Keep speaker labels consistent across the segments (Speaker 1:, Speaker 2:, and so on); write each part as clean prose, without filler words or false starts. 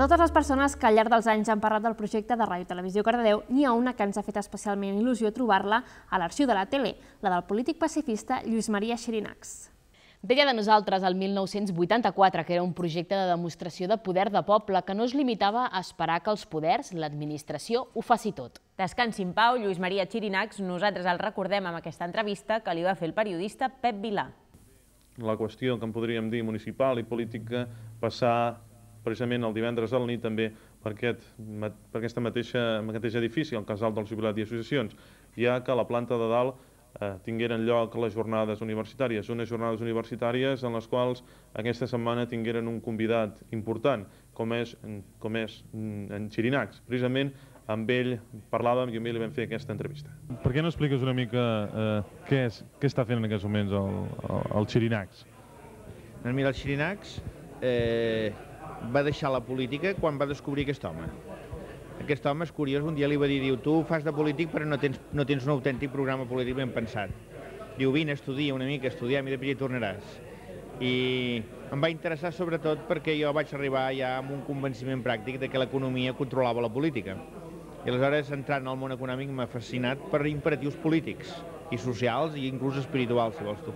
Speaker 1: totes les persones que al llarg dels anys han parlat del projecte de Ràdio Televisió Cardedeu, n'hi ha una que ens ha fet especialment il·lusió trobar-la a l'arxiu de la tele, la del polític pacifista Lluís Maria Xirinacs.
Speaker 2: Deia de nosaltres el 1984 que era un projecte de demostració de poder de poble que no es limitava a esperar que els poders, l'administració, ho faci tot.
Speaker 3: Descansi en pau, Lluís Maria Xirinacs, nosaltres el recordem amb aquesta entrevista que li va fer el periodista Pep Vilà.
Speaker 4: La qüestió que en podríem dir municipal i política passar precisament el divendres a la nit també per aquest mateix edifici, el Casal dels Jubilats i Associacions, ja que a la planta de dalt tingueren lloc les jornades universitàries, unes jornades universitàries en les quals aquesta setmana tingueren un convidat important, com és en Xirinacs. Precisament amb ell parlàvem i amb ell li vam fer aquesta entrevista.
Speaker 5: Per què no expliques una mica què està fent en aquests moments el Xirinacs?
Speaker 6: Mira, el Xirinacs va deixar la política quan va descobrir aquest home. Aquest home és curiós, un dia li va dir, tu fas de polític però no tens un autèntic programa polític ben pensat. Diu, vine, estudia una mica, estudiam i després hi tornaràs. I em va interessar sobretot perquè jo vaig arribar ja amb un convenciment pràctic de que l'economia controlava la política. I aleshores, entrant al món econòmic, m'ha fascinat per imperatius polítics i socials i inclús espirituals, si vols tu.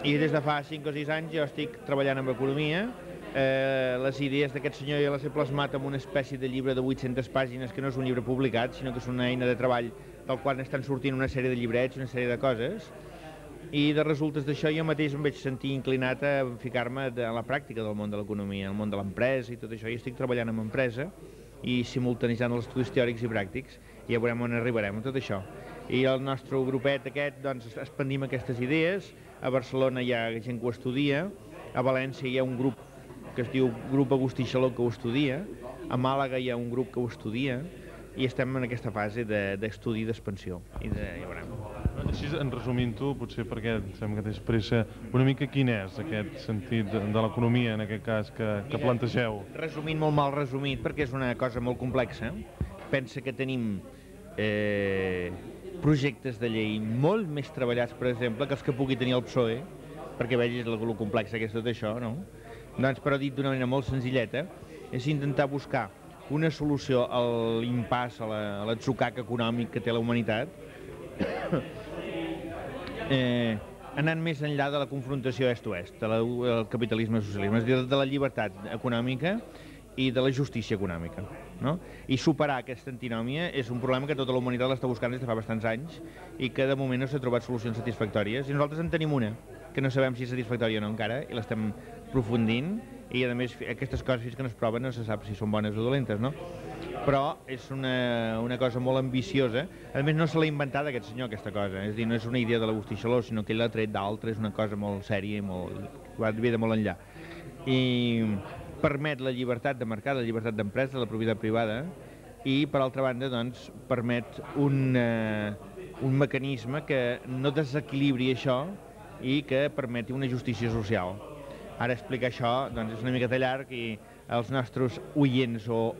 Speaker 6: I des de fa 5 o 6 anys jo estic treballant amb economia. Les idees d'aquest senyor ja les he plasmat en una espècie de llibre de 800 pàgines que no és un llibre publicat, sinó que és una eina de treball del qual estan sortint una sèrie de llibrets, una sèrie de coses, i de resultes d'això jo mateix em vaig sentir inclinat a ficar-me a la pràctica del món de l'economia, el món de l'empresa i tot això, i estic treballant en empresa i simultanitzant els estudis teòrics i pràctics, i ja veurem on arribarem amb tot això. I el nostre grupet aquest, doncs, expandim aquestes idees, a Barcelona hi ha gent que ho estudia, a València hi ha un grup que es diu Grup Agustí Xaló que ho estudia, a Màlaga hi ha un grup que ho estudia, i estem en aquesta fase d'estudi d'expansió, i ja veurem.
Speaker 5: Així, en resumint-ho, potser perquè sembla que tens pressa, una mica quin és aquest sentit de l'economia, en aquest cas, que plantegeu?
Speaker 6: Resumint, molt mal resumit, perquè és una cosa molt complexa. Pensa que tenim projectes de llei molt més treballats, per exemple, que els que pugui tenir el PSOE, perquè vegis el complex que és tot això, no? Doncs, però dit d'una manera molt senzilleta, és intentar buscar una solució a l'impàs, a l'atzucac econòmic que té la humanitat, anant més enllà de la confrontació est-oest, del capitalisme i socialisme, és a dir, de la llibertat econòmica i de la justícia econòmica. I superar aquesta antinòmia és un problema que tota la humanitat l'està buscant des de fa bastants anys i que de moment no s'ha trobat solucions satisfactòries, i nosaltres en tenim una, que no sabem si és satisfactòria o no encara, i l'estem aprofundint, i a més aquestes coses fins que no es proven no se sap si són bones o dolentes, no? Però és una cosa molt ambiciosa. A més, no se l'ha inventat aquest senyor, aquesta cosa, és a dir, no és una idea de l'Agustí Xaló, sinó que ell l'ha tret d'altres, és una cosa molt sèria i va de molt enllà. I permet la llibertat de mercat, la llibertat d'empresa, la propietat privada, i per altra banda, doncs, permet un mecanisme que no desequilibri això i que permeti una justícia social. Ara explicar això doncs, és una miqueta llarg, i els nostres oients o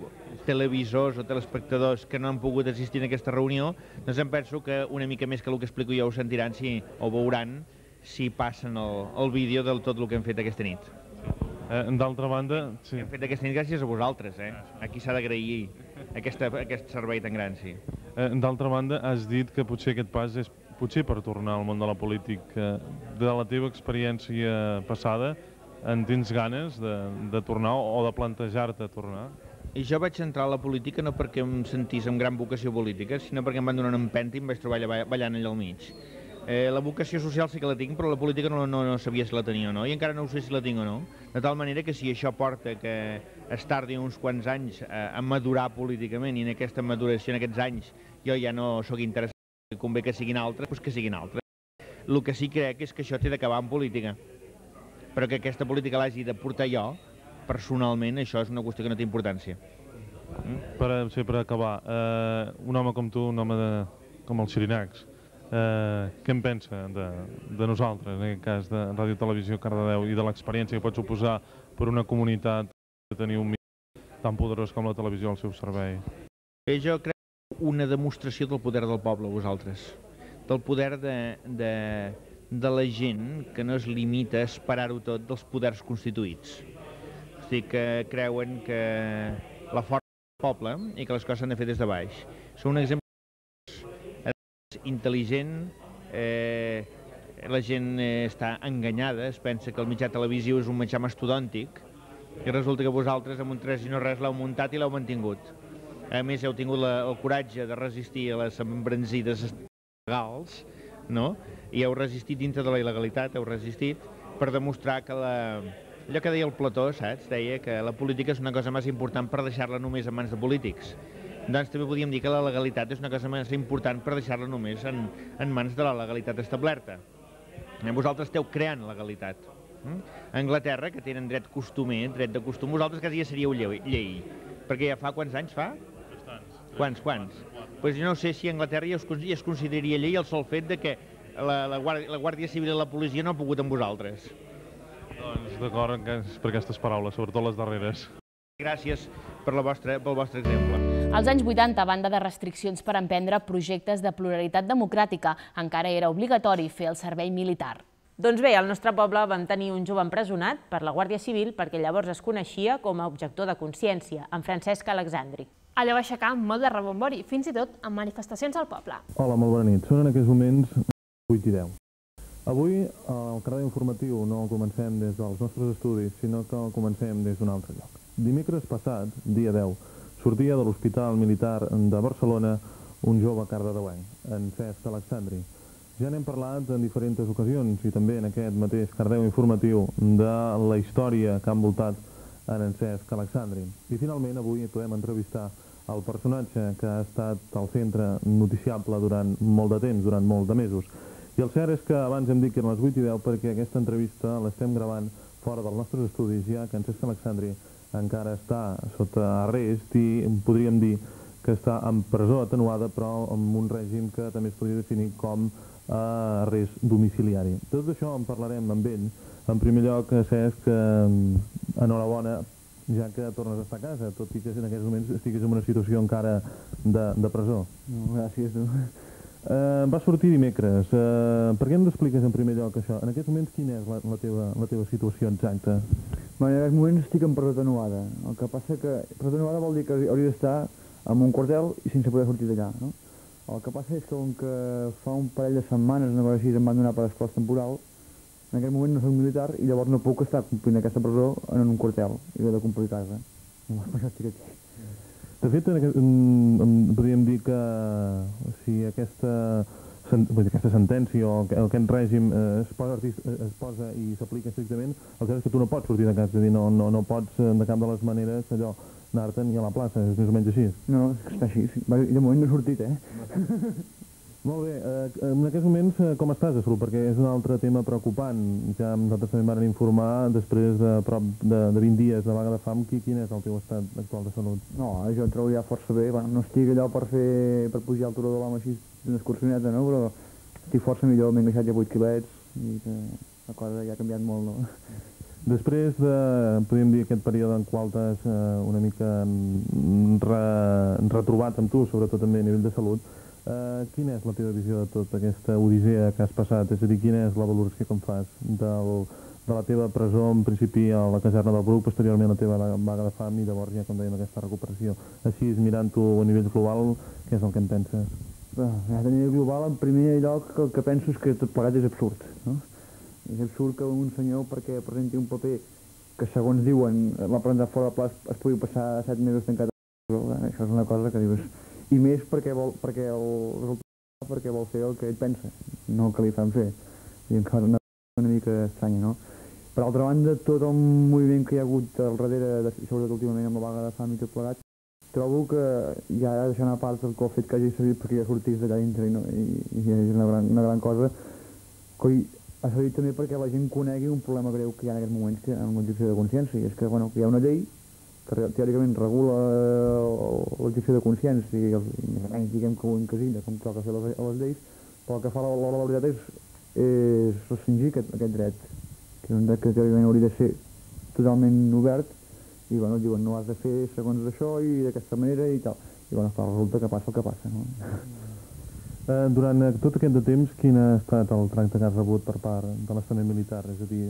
Speaker 6: televisors o telespectadors que no han pogut assistir a aquesta reunió, doncs em penso que una mica més que el que explico jo ho sentiran o veuran si passen el vídeo de tot el que hem fet aquesta nit.
Speaker 5: D'altra banda...
Speaker 6: Hem fet aquesta nit gràcies a vosaltres, a qui s'ha d'agrair aquest servei tan gran, sí.
Speaker 5: D'altra banda, has dit que potser aquest pas és potser per tornar al món de la política. De la teva experiència passada, en tens ganes de tornar o de plantejar-te tornar?
Speaker 6: I jo vaig entrar a la política no perquè em sentís amb gran vocació política, sinó perquè em van donar una empenta i em vaig trobar ballant allà al mig. La vocació social sí que la tinc, però la política no sabia si la tenia o no, i encara no sé si la tinc o no. De tal manera que si això porta que es tardi uns quants anys a madurar políticament, i en aquesta maduració, en aquests anys, jo ja no sóc interessat, convé que siguin altres, doncs que siguin altres. El que sí crec és que això té d'acabar en política, però que aquesta política l'hagi de portar jo, personalment, això és una qüestió que no té importància.
Speaker 5: Per acabar, un home com tu, un home com el Xirinacs, què en pensa de nosaltres, en aquest cas de Ràdio Televisió Cardedeu, i de l'experiència que pot suposar per una comunitat de tenir un mitjà tan poderós com la televisió al seu servei?
Speaker 6: Jo crec una demostració del poder del poble, vosaltres, del poder de la gent que no es limita a esperar-ho tot dels poders constituïts. dir, que creuen que la força del poble i que les coses s'han de fer des de baix. Són un exemple intel·ligent, la gent està enganyada, es pensa que el mitjà televisiu és un mitjà mastodòntic i resulta que vosaltres amb un 3 i no res l'heu muntat i l'heu mantingut. A més, heu tingut el coratge de resistir a les embranzides legals, no? I heu resistit dintre de la il·legalitat, heu resistit per demostrar que allò que deia el Plató, saps? Deia que la política és una cosa més important per deixar-la només en mans de polítics. Doncs també podríem dir que la legalitat és una cosa més important per deixar-la només en mans de la legalitat establerta. Vosaltres esteu creant legalitat. A Anglaterra, que tenen dret costumer, dret de costum, vosaltres quasi ja seríeu llei. Perquè ja fa quants anys fa? Quants? Doncs jo no sé si a Anglaterra ja es consideraria llei el sol fet de que la Guàrdia Civil i la policia no han pogut amb vosaltres.
Speaker 5: Doncs d'acord per aquestes paraules, sobretot les darreres.
Speaker 6: Gràcies pel vostre exemple.
Speaker 2: Als anys 80, a banda de restriccions per emprendre projectes de pluralitat democràtica, encara era obligatori fer el servei militar.
Speaker 3: Doncs bé, al nostre poble vam tenir un jove empresonat per la Guàrdia Civil perquè llavors es coneixia com a objector de consciència, en Francesc Alexandri.
Speaker 1: Allò va aixecar molt de rebombori, fins i tot amb manifestacions al poble.
Speaker 5: Hola, molt bona nit. Són en aquests moments 8 i 10. Avui el carrer informatiu no el comencem des dels nostres estudis, sinó que el comencem des d'un altre lloc. Dimecres passat, dia 10, sortia de l'Hospital Militar de Barcelona un jove cardedeuenc, en Cesc Alexandri. Ja n'hem parlat en diferents ocasions i també en aquest mateix Cardeu informatiu de la història que ha envoltat en Cesc Alexandri. I finalment avui podem entrevistar el personatge que ha estat al centre noticiable durant molt de temps, durant molt de mesos. I el cert és que abans hem dit que eren les 8 i 10 perquè aquesta entrevista l'estem gravant fora dels nostres estudis, ja que en Cesc Alexandri encara està sota arrest i podríem dir que està en presó atenuada, però amb un règim que també es podria definir com arrest domiciliari. Tot això en parlarem amb ell. En primer lloc, Cesc, enhorabona, ja que tornes a estar a casa, tot i que en aquests moments estiguis en una situació encara de presó.
Speaker 7: Gràcies, tu.
Speaker 5: Va sortir dimecres. Per què ens expliques en primer lloc això? En aquests moments quina és la teva situació exacta?
Speaker 7: En aquests moments estic en presó atenuada. El que passa que presó atenuada vol dir que hauria d'estar en un quartel i sense poder sortir d'allà, no? El que passa és que com que fa un parell de setmanes, una cosa així, em van donar per esclòs temporal, en aquest moment no soc militar i llavors no puc estar complint aquesta presó en un quartel i he de complir casa. Per això estic aquí.
Speaker 5: De fet, podríem dir que si aquesta sentència o aquest règim es posa i s'aplica estrictament, el que és que tu no pots sortir de casa, és a dir, no pots de cap de les maneres allò anar-te'n ni a la plaça, és més o menys així.
Speaker 7: No, està així. De moment no he sortit,
Speaker 5: Molt bé. En aquests moments com estàs de salut? Perquè és un altre tema preocupant. Ja nosaltres també vam informar després de prop de 20 dies de vaga de fam. Quin és el teu estat actual de salut?
Speaker 7: No, jo em trobo ja força bé. No estic allò per pujar al turó de l'home així d'una excursioneta, no? Però estic força millor, m'he engreixat ja 8 quilets i la cosa ja ha canviat molt, no?
Speaker 5: Després de, podríem dir, aquest període en qual t'has una mica retrobat amb tu, sobretot també a nivell de salut, quina és la teva visió de tota aquesta odissea que has passat? És a dir, quina és la valoració que em fas de la teva presó, en principi a la caserna del Bruc, posteriorment a la teva vaga de fam i llavors ja, com dèiem, aquesta recuperació? Així, mirant-ho a nivell global, què és el que en penses?
Speaker 7: A nivell global, en primer lloc, el que penso és que tot plegat és absurd, no? És absurd que un senyor, perquè presenti un paper que, segons diuen, l'ha presentat fora de pla, es pugui passar 7 mesos tancat a la presó. Això és una cosa que dius... I més perquè vol fer el que ell pensa, no el que li fan fer. I encara una mica estranya, no? Per altra banda, tot el moviment que hi ha hagut al darrere, sobretot últimament amb la vaga de fam i tot plegat, trobo que ja deixant a part el fet que hagi servit perquè ja sortís d'allà dintre i és una gran cosa. Ha servit també perquè la gent conegui un problema greu que hi ha en aquests moments en l'objecció de consciència, i és que hi ha una llei que teòricament regula l'objecció de consciència i més o menys diguem que ho encasilla com toca fer les lleis, però el que fa la veritat és restringir aquest dret, que és un dret que teòricament hauria de ser totalment obert, i bueno, diuen no has de fer segons això i d'aquesta manera i tal, i bueno, resulta que passa el que passa, no?
Speaker 5: Durant tot aquest temps, quin ha estat el tracte que has rebut per part de l'estament militar? És a dir,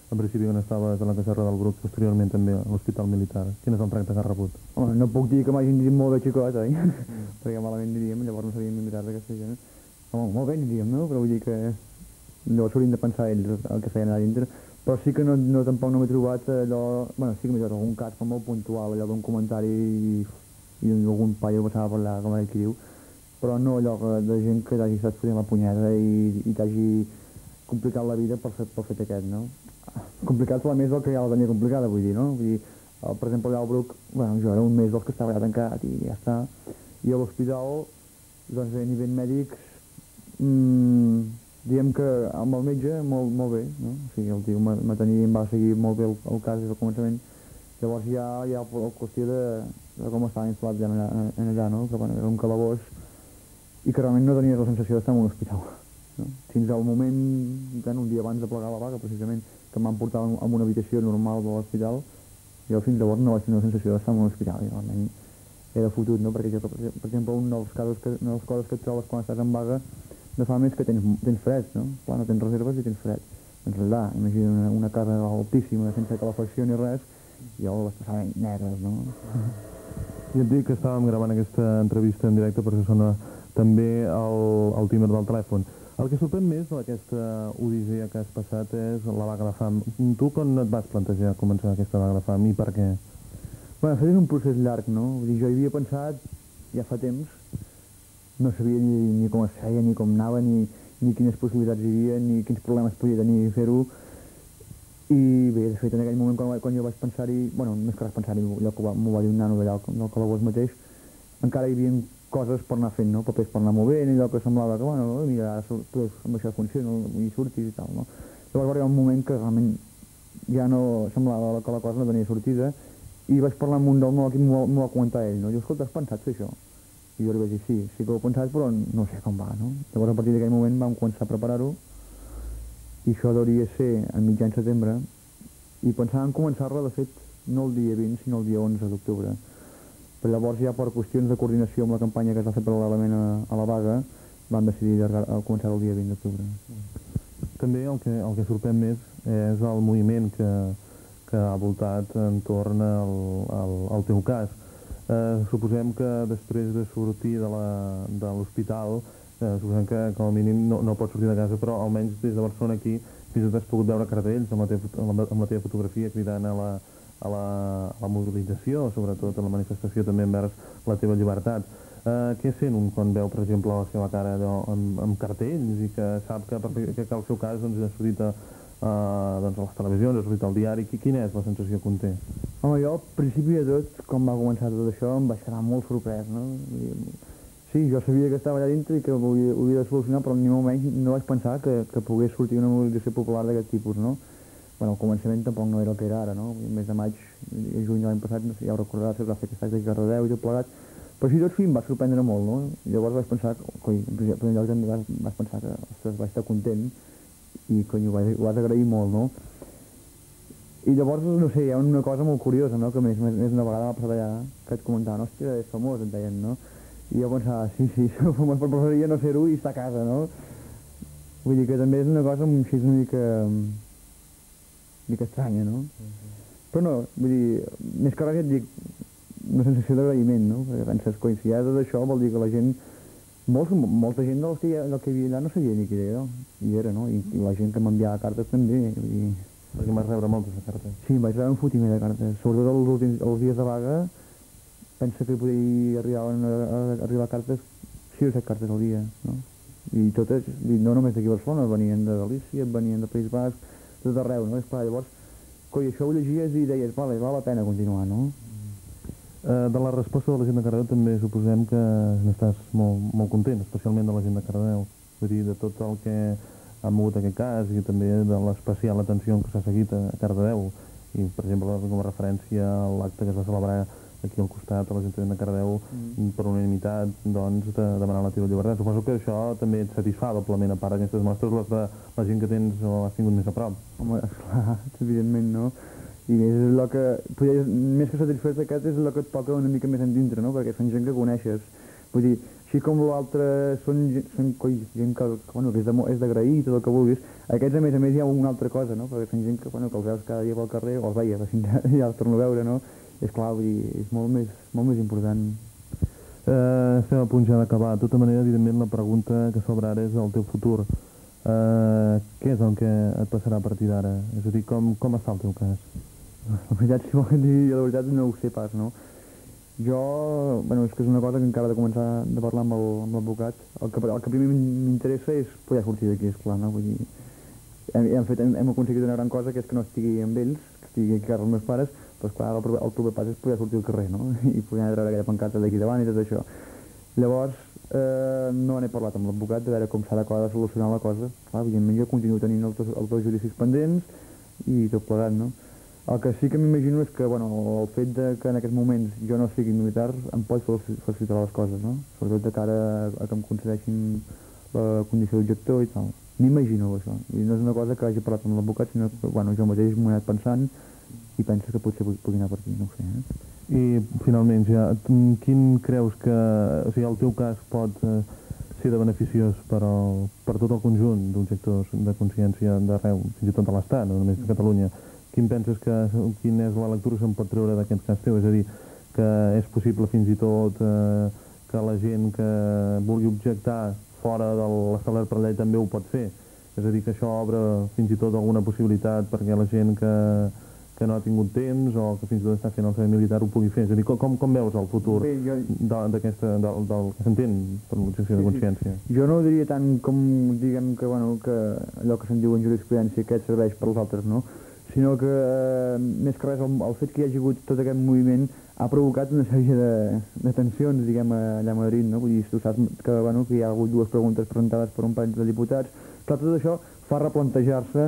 Speaker 5: en principi quan estaves a la caserra del Bruc, posteriorment també a l'Hospital Militar. Quin és el tracte que has rebut?
Speaker 7: Home, no puc dir que m'hagin dit molt bé xicot, oi? Perquè malament diríem, llavors no sabíem imitar d'aquesta gent. Home, molt bé diríem, no? Però vull dir que llavors haurien de pensar ells el que feien allà dintre. Però sí que tampoc no m'he trobat allò... Bueno, sí que m'he trobat algun cas com molt puntual, allò d'un comentari i algun paio passava per allà, com aquell qui diu, però no allò de gent que t'hagi estat fotent la punyeta i t'hagi complicat la vida per fet aquest, no? Complicat la més del que ja la tenia complicada, vull dir, no? Vull dir, per exemple, allà al Bruc, bueno, jo era un mes dels que estava allà tancat i ja està. I a l'hospital, doncs a nivell mèdic, diguem que amb el metge molt bé, no? O sigui, el tio em va seguir molt bé el cas des del començament. Llavors ja hi ha la qüestió de com estava instal·lat allà, no? Que bueno, era un calabós i que realment no tenies la sensació d'estar en un hospital. No? Fins al moment, un dia abans de plegar la vaga, precisament, que em van portar en una habitació normal de l'hospital, jo fins llavors no vaig tenir la sensació d'estar en un hospital, i realment era fotut, no? Perquè, per exemple, una de les coses que et trobes quan estàs en vaga de fam és que tens fred, no? Clar, no tens reserves i tens fred. Doncs allà, imagina una casa altíssima, sense calefacció ni res, i jo les passava negres, no?
Speaker 5: I et dic que estàvem gravant aquesta entrevista en directe, per això sona també el timer del telèfon. El que sorprèn més d'aquesta odissea que has passat és la vaga de fam. Tu quan et vas plantejar començar aquesta vaga de fam i per què?
Speaker 7: Bueno, de fet és un procés llarg, no? Vull dir, jo hi havia pensat ja fa temps, no sabia ni com es feia, ni com anava, ni quines possibilitats hi havia, ni quins problemes podia tenir fer-ho. I bé, de fet, en aquell moment, quan jo vaig pensar-hi, bueno, més que vaig pensar-hi, allò que m'ho va dir un nano d'allà del calabós mateix, encara hi havia coses per anar fent, no? Papers per anar movent, allò que semblava que, bueno, mira, amb això funciona i surtis i tal, no? Llavors va arribar un moment que realment ja no semblava que la cosa no tenia sortida i vaig parlar amb un del meu equip i m'ho va comentar ell, no? Diu, escolta, has pensat fer això? I jo li vaig dir, sí que ho he pensat, però no sé com va, no? Llavors a partir d'aquell moment vam començar a preparar-ho i això hauria de ser a mitjan setembre i pensàvem començar-la, de fet, no el dia 20, sinó el dia 11 d'octubre. Però llavors ja per qüestions de coordinació amb la campanya que es va fer paral·lelament a la vaga vam decidir començar el dia 20 d'octubre.
Speaker 5: També el que sorprèn més és el moviment que ha voltat entorn al teu cas. Suposem que després de sortir de l'hospital, suposem que com a mínim no pots sortir de casa, però almenys des de Barcelona aquí fins i tot has pogut veure cartells amb la teva fotografia cridant a la mobilització, sobretot a la manifestació també envers la teva llibertat. Què sent un quan veu, per exemple, la seva cara amb cartells i que sap que el seu cas ha sortit a les televisions, ha sortit al diari? Quina és la sensació que un té?
Speaker 7: Home, jo, al principi de tot, quan va començar tot això, em vaig quedar molt sorprès, no? Sí, jo sabia que estava allà dintre i que ho havia de solucionar, però ni molt menys no vaig pensar que pogués sortir una mobilització popular d'aquest tipus, no? Bueno, al començament tampoc no era el que era ara, no? El mes de maig i juny de l'any passat, no sé, ja ho recordaràs, es va fer aquest acte a Cardedeu i tot plegat, però així tot fi em va sorprendre molt, no? Llavors vaig pensar, coi, en primer lloc també vaig pensar que, ostres, vaig estar content i, cony, ho vas agrair molt, no? I llavors, no sé, hi ha una cosa molt curiosa, no? Que més una vegada m'ha passat allà, que et comentaven, hòstia, és famós, et deien, no? I jo pensava, sí, famós per preferiria no ser-ho i estar a casa, no? Vull dir que també és una cosa així una mica estranya, no? Però no, vull dir, més que res et dic una sensació d'agraïment, no? Perquè penses, coi, si hi ha tot això vol dir que la gent, molta gent del que hi havia allà no sabia ni qui era, i era, no? I la gent que m'enviava cartes també, vull dir...
Speaker 5: Perquè vas rebre moltes de cartes.
Speaker 7: Sí, vaig rebre un fotiment de cartes, sobretot els dies de vaga, pensa que podia arribar cartes, 6 o 7 cartes al dia, no? I totes, no només d'aquí a Barcelona, venien de Galícia, venien del País Basc, tot arreu, no? És clar, llavors, coi, això ho llegies i deies, val la pena continuar, no?
Speaker 5: De la resposta de la gent de Cardedeu també suposem que n'estàs molt content, especialment de la gent de Cardedeu. Vull dir, de tot el que ha mogut aquest cas i també de l'especial atenció que s'ha seguit a Cardedeu. I, per exemple, com a referència a l'acte que es va celebrar aquí al costat, a l'Ajuntament de Cardedeu, per unanimitat, doncs, de demanar la teva llibertat. Suposo que això també et satisfà doblement, a part d'aquestes mostres, les de la gent que tens o has tingut més a prop.
Speaker 7: Home, esclar, evidentment, no? I més és el que, més que satisfet aquest, és el que et toca una mica més endintre, no? Perquè són gent que coneixes. Vull dir, Així com l'altre són gent que és d'agrair, tot el que vulguis. Aquests, a més, hi ha una altra cosa, no? Perquè són gent que els veus cada dia pel carrer, o els veia, ja els torno a veure, no? És clar, vull dir, és molt més important.
Speaker 5: Estem a punt ja d'acabar. De tota manera, evidentment, la pregunta que s'obre ara és el teu futur. Què és el que et passarà a partir d'ara? És a dir, com està el teu cas?
Speaker 7: La veritat, si volen dir la veritat, no ho sé pas, no? Jo, és que és una cosa que encara he de començar a parlar amb l'advocat. El que primer m'interessa és poder sortir d'aquí, esclar, no? Vull dir, hem aconseguit una gran cosa, que és que no estigui amb ells, que estigui aquí a casa els meus pares, però esclar, el proper pas és poder sortir al carrer, no? I poder treure aquella pancata d'aquí davant i tot això. Llavors, no n'he parlat amb l'advocat de veure com s'ha d'acabar de solucionar la cosa. Clar, evidentment jo continuo tenint els dos judicis pendents i tot plegat, no? El que sí que m'imagino és que, el fet que en aquests moments jo no sigui militar em pot facilitar les coses, no? Sobretot de cara a que em concedeixin la condició d'objector i tal. M'imagino això. I no és una cosa que hagi parlat amb l'advocat, sinó que, jo mateix m'ho he anat pensant i penso que potser pugui anar per aquí, no ho sé,
Speaker 5: I, finalment, ja, quin creus que... O sigui, el teu cas pot ser de beneficiós per tot el conjunt d'objectors de consciència d'arreu, fins i tot de l'Estat, no només de Catalunya? Quina és la lectura que se'n pot treure d'aquest cas teu? És a dir, que és possible fins i tot que la gent que vulgui objectar fora de l'establert per llei també ho pot fer? És a dir, que això obre fins i tot alguna possibilitat perquè la gent que no ha tingut temps o que fins i tot està fent el servei militar ho pugui fer? És a dir, com veus el futur del que s'entén per l'objecció de consciència?
Speaker 7: Jo no ho diria tant com, diguem, que allò que se'n diu en jurisprudència, que serveix per als altres, no? Sinó que, més que res, el fet que hi hagi hagut tot aquest moviment ha provocat una sèrie de tensions, diguem, allà a Madrid, no? Vull dir, tu saps que hi ha hagut dues preguntes presentades per un parell de diputats. Clar, tot això fa replantejar-se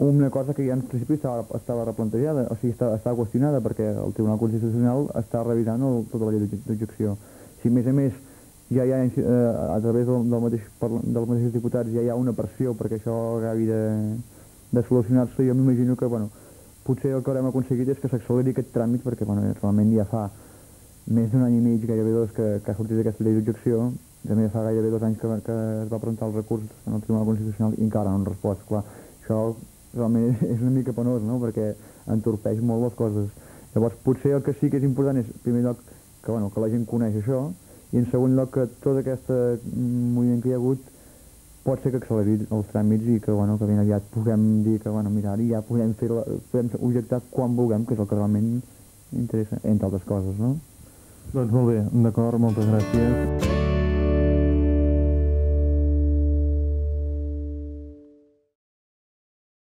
Speaker 7: una cosa que ja en principi estava replantejada, o sigui, estava qüestionada, perquè el Tribunal Constitucional està revisant tota la llei d'objecció. Si, a més, ja hi ha, a través dels mateixos diputats, ja hi ha una pressió perquè això acabi de solucionar-se, jo m'imagino que, potser el que haurem aconseguit és que s'acceleri aquest tràmit, perquè, realment ja fa més d'un any i mig, gairebé dos, que ha sortit aquesta llei d'objecció, també fa gairebé 2 anys que es va presentar el recurs en el Tribunal Constitucional i encara no han respost. Clar, això realment és una mica penós, no?, perquè entorpeix molt les coses. Llavors, potser el que sí que és important és, en primer lloc, que la gent coneix això, i en segon lloc que tot aquest moviment que hi ha hagut pot ser que acceleri els tràmits i que ben aviat puguem dir que, mira, ara ja podem objectar quan vulguem, que és el que realment interessa, entre altres coses, no?
Speaker 5: Doncs molt bé, d'acord, moltes gràcies.